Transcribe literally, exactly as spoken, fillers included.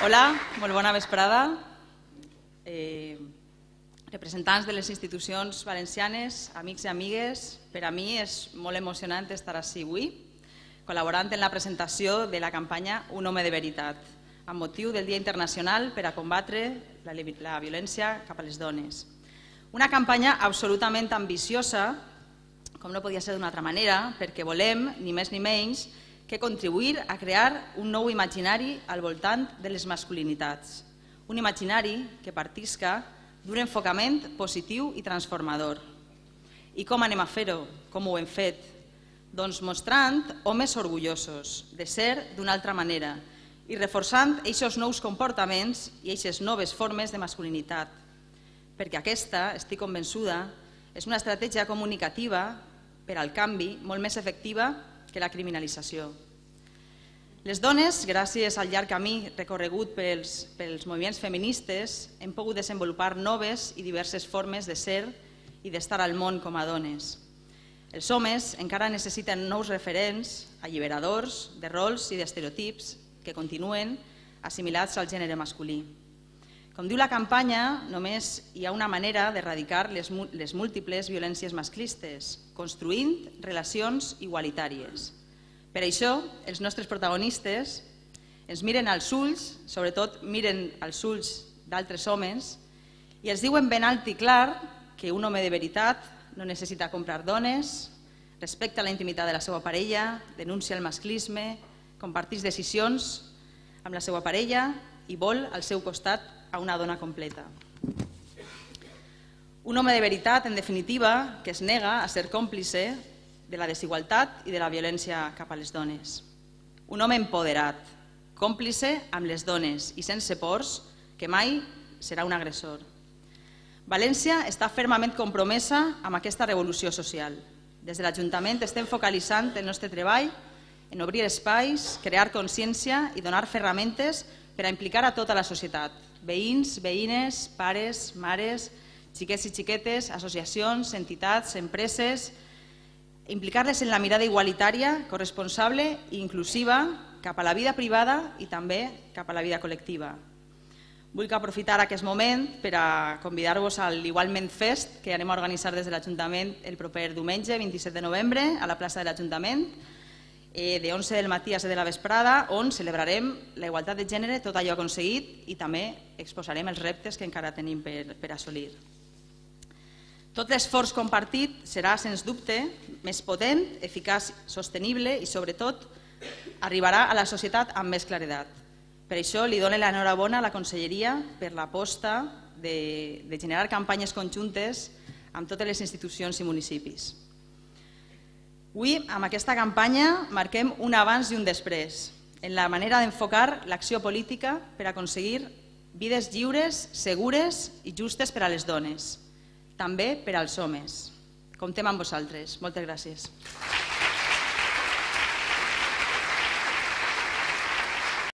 Hola, molt bona vesprada. Eh, representants de les institucions valencianes, amics i amigues, per a mi és molt emocionant estar ací avui, col·laborant en la presentació de la campanya Un home de veritat, amb motiu del Dia Internacional per a combatre la, la violència cap a les dones. Una campanya absolutament ambiciosa, com no podia ser d'una altra manera, perquè volem, ni més ni menys, que contribuir a crear un nou imaginari al voltant de les masculinitats. Un imaginari que partisca d'un enfocament positiu i transformador. I com anem a fer-ho? Com ho hem fet? Doncs mostrant homes orgullosos de ser d'una altra manera i reforçant aquests nous comportaments i aquestes noves formes de masculinitat. Perquè aquesta, estic convençuda, és una estratègia comunicativa per al canvi molt més efectiva que la criminalització. Les dones, gràcies al llarg camí recorregut pels, pels moviments feministes, hem pogut desenvolupar noves i diverses formes de ser i d'estar al món com a dones. Els homes encara necessiten nous referents alliberadors de rols i d'estereotips que continuen assimilats al gènere masculí. Com diu la campanya, només hi ha una manera d'erradicar les, les múltiples violències masclistes, construint relacions igualitàries. Per això, els nostres protagonistes ens miren als ulls, sobretot miren als ulls d'altres homes, i els diuen ben alt i clar que un home de veritat no necessita comprar dones, respecta la intimitat de la seva parella, denuncia el masclisme, comparteix decisions amb la seva parella i vol al seu costat a una dona completa. Un home de veritat, en definitiva, que es nega a ser còmplice de la desigualtat i de la violència cap a les dones. Un home empoderat, còmplice amb les dones i sense pors, que mai serà un agressor. València està fermament compromesa amb aquesta revolució social. Des de l'Ajuntament estem focalitzant el nostre treball en obrir espais, crear consciència i donar ferramentes per a implicar a tota la societat, veïns, veïnes, pares, mares, xiquets i xiquetes, associacions, entitats, empreses, implicar-les en la mirada igualitària, corresponsable i inclusiva cap a la vida privada i també cap a la vida col·lectiva. Vull aprofitar aquest moment per a convidar-vos a l'Igualment Fest que anem a organitzar des de l'Ajuntament el proper diumenge, vint-i-set de novembre, a la plaça de l'Ajuntament, de onze del matí a set de la vesprada, on celebrarem la igualtat de gènere, tot allò aconseguit, i també exposarem els reptes que encara tenim per assolir. Tot l'esforç compartit serà, sens dubte, més potent, eficaç, sostenible i, sobretot, arribarà a la societat amb més claredat. Per això li dono l'enhorabona a la Conselleria per l'aposta de generar campanyes conjuntes amb totes les institucions i municipis. Avui, amb aquesta campanya, marquem un abans i un després en la manera d'enfocar l'acció política per aconseguir vides lliures, segures i justes per a les dones, també per als homes. Comptem amb vosaltres. Moltes gràcies.